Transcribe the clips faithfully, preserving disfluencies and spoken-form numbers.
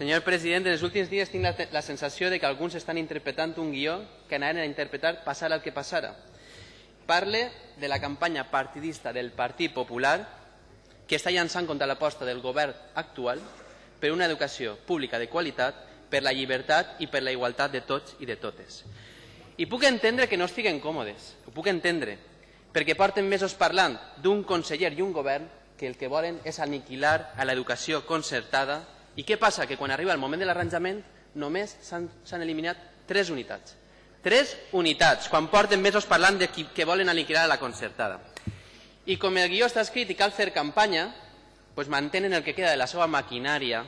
Senyor president, en els últims dies tinc la, la sensació de que alguns estan interpretant un guió que anaven a interpretar passar el que passara. Parle de la campanya partidista del Partit Popular que està llançant contra l'aposta del govern actual per una educació pública de qualitat, per la llibertat i per la igualtat de tots i de totes. I puc entendre que no estiguen còmodes, ho puc entendre, perquè porten mesos parlant d'un conseller i un govern que el que volen és aniquilar a l'educació concertada. I què passa? Que quan arriba el moment de l'arranjament només s'han eliminat tres unitats. Tres unitats, quan porten mesos parlant de que volen aniquilar a la concertada. I com el guió està escrit i cal fer campanya, doncs mantenen el que queda de la seva maquinària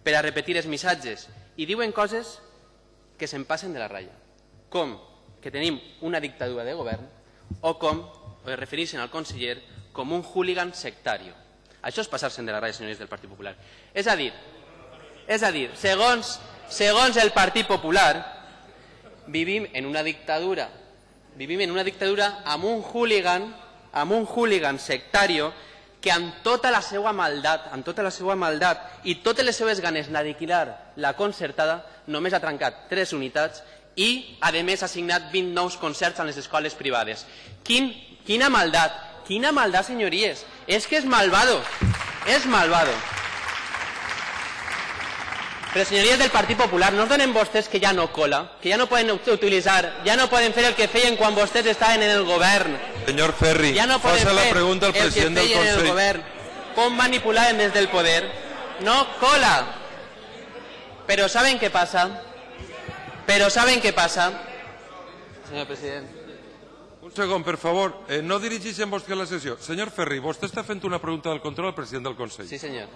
per a repetir els missatges i diuen coses que se'n passen de la ratlla, com que tenim una dictadura de govern o com es refereixen al conseller com un hooligan sectario. Això és passar-se'n de la ratlla, senyors del Partit Popular. És a dir, és a dir, segons, segons el Partit Popular, vivim en una dictadura, vivim en una dictadura amb un hooligan, amb un hooligan sectario que amb tota la seva maldat, amb tota la seva maldat i totes les seves ganes d'aniquilar la concertada, només ha trencat tres unitats i, a més, ha signat vint nous concerts a les escoles privades. Quin, quina maldat, quina maldat, senyories. És que és malvado, és malvado. Però, senyories del Partit Popular, no es donen vostès que ja no cola, que ja no poden utilitzar, ja no poden fer el que feien quan vostès estaven en el govern. Senyor Ferri, ja no poden passa la fer pregunta al el que president del feien en el Consell. govern. Com manipulaven des del poder. No cola. Però ¿saben què passa? Però ¿saben què passa? Senyor president. Un segon, per favor. Eh, no dirigeixen vostè la sessió. Senyor Ferri, vostè està fent una pregunta del control al president del Consell. Sí, senyor.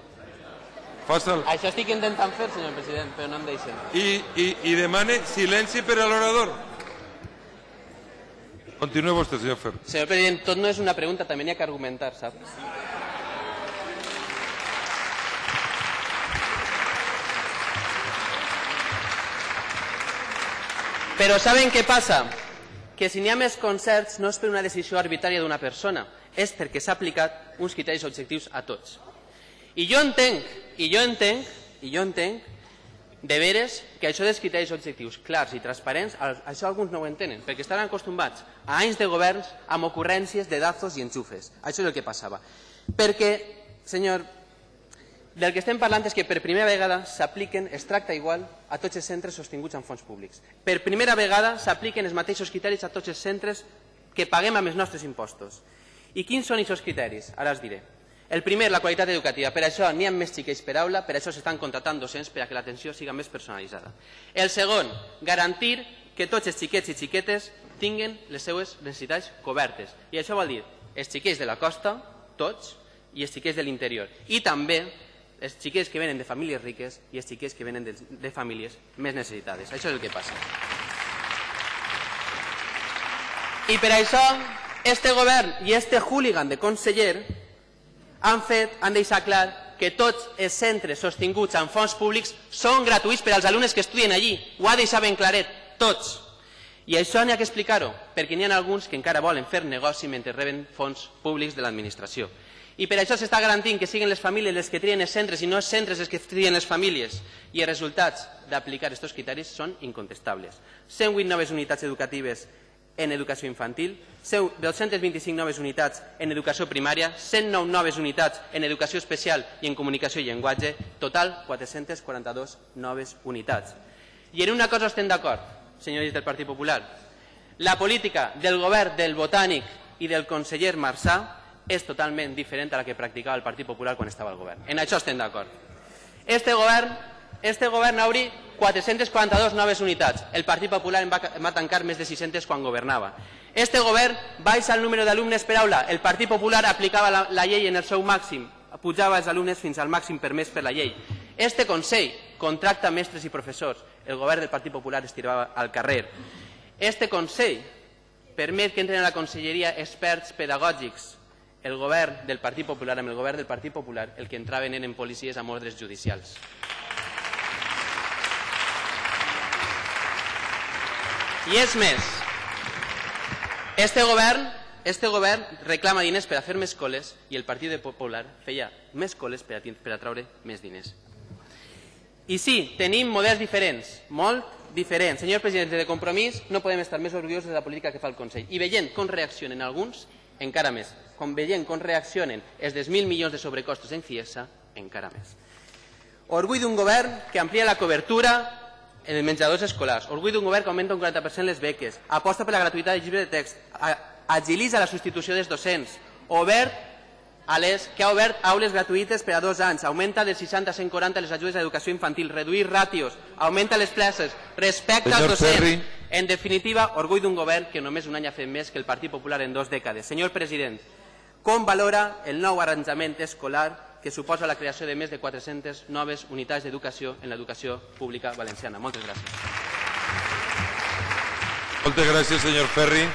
Faça'l. Això estic intentant fer, senyor president, però no em deixen. I, i, i demane silenci per a l'orador. Continua vostè, senyor Ferri. Senyor president, tot no és una pregunta, també n'hi ha que argumentar, sap? Però ¿saben què passa? Que si n'hi ha més concerts no és per una decisió arbitrària d'una persona, és perquè s'ha aplicat uns criteris objectius a tots. I jo entenc, i jo entenc, i jo entenc, de veres que això dels criteris objectius clars i transparents, això alguns no ho entenen, perquè estaran acostumats a anys de governs amb ocurrències de dazos i enxufes. Això és el que passava. Perquè, senyor, del que estem parlant és que per primera vegada s'apliquen, es tracta igual a tots els centres sostinguts amb fons públics. Per primera vegada s'apliquen els mateixos criteris a tots els centres que paguem amb els nostres impostos. I quins són aquests criteris? Ara els diré. El primer, la qualitat educativa. Per això n'hi ha més xiquets per aula, per això s'estan contractant docents per a que l'atenció sigui més personalitzada. El segon, garantir que tots els xiquets i xiquetes tinguin les seues necessitats cobertes. I això vol dir els xiquets de la costa, tots, i els xiquets de l'interior. I també els xiquets que venen de famílies riques i els xiquets que venen de, de famílies més necessitades. Això és el que passa. I per això, este govern i este hooligan de conseller han fet, han deixat clar que tots els centres sostinguts amb fons públics són gratuïts per als alumnes que estudien allí. Ho ha deixat ben claret, tots. I això n'hi ha que explicar-ho, perquè n'hi ha alguns que encara volen fer negoci mentre reben fons públics de l'administració. I per això s'està garantint que siguin les famílies les que trien els centres i no els centres els que trien les famílies. I els resultats d'aplicar aquests criteris són incontestables. cent vuit noves unitats educatives en educació infantil, dos-centes vint-i-cinc noves unitats en educació primària, cent nou noves unitats en educació especial i en comunicació i llenguatge, total quatre-centes quaranta-dues noves unitats. I en una cosa estem d'acord, senyors del Partit Popular. La política del govern del Botànic i del conseller Marsà és totalment diferent a la que practicava el Partit Popular quan estava al govern. En això estem d'acord. Este govern, este govern ha obrit quatre-centes quaranta-dues noves unitats. El Partit Popular en va, en va tancar més de sis-centes quan governava. Este govern baixa el número d'alumnes per aula. El Partit Popular aplicava la, la llei en el seu màxim, pujava els alumnes fins al màxim permès per la llei. Este Consell contracta mestres i professors. El govern del Partit Popular es tirava al carrer. Este Consell permet que entren a la conselleria experts pedagògics. El govern del Partit Popular, amb el govern del Partit Popular, el que entraven eren policies amb ordres judicials. I és més, este govern, este govern reclama diners per a fer més coles i el Partit Popular feia més coles per a, per a traure més diners. I sí, tenim models diferents, molt diferents. Senyor president, de Compromís no podem estar més orgullosos de la política que fa el Consell. I veient com reaccionen alguns, encara més. Com veient com reaccionen els dels mil milions de sobrecostos en Ciesa, encara més. Orgull d'un govern que amplia la cobertura en els menjadors escolars. Orgull d'un govern que augmenta un quaranta per cent les beques. Aposta per la gratuïtat del llibre de text. Agilitza la substitució dels docents. Obert a les, que ha obert aules gratuïtes per a dos anys. Augmenta del seixanta a cent quaranta les ajudes a educació infantil. Reduir ràtios. Augmenta les places. Respecta als docents. En definitiva, orgull d'un govern que només un any ha fet més que el Partit Popular en dues dècades. Senyor president, com valora el nou arranjament escolar que suposa la creació de més de quatre-centes noves unitats d'educació en l'educació pública valenciana? Moltes gràcies. Moltes gràcies, senyor Ferri.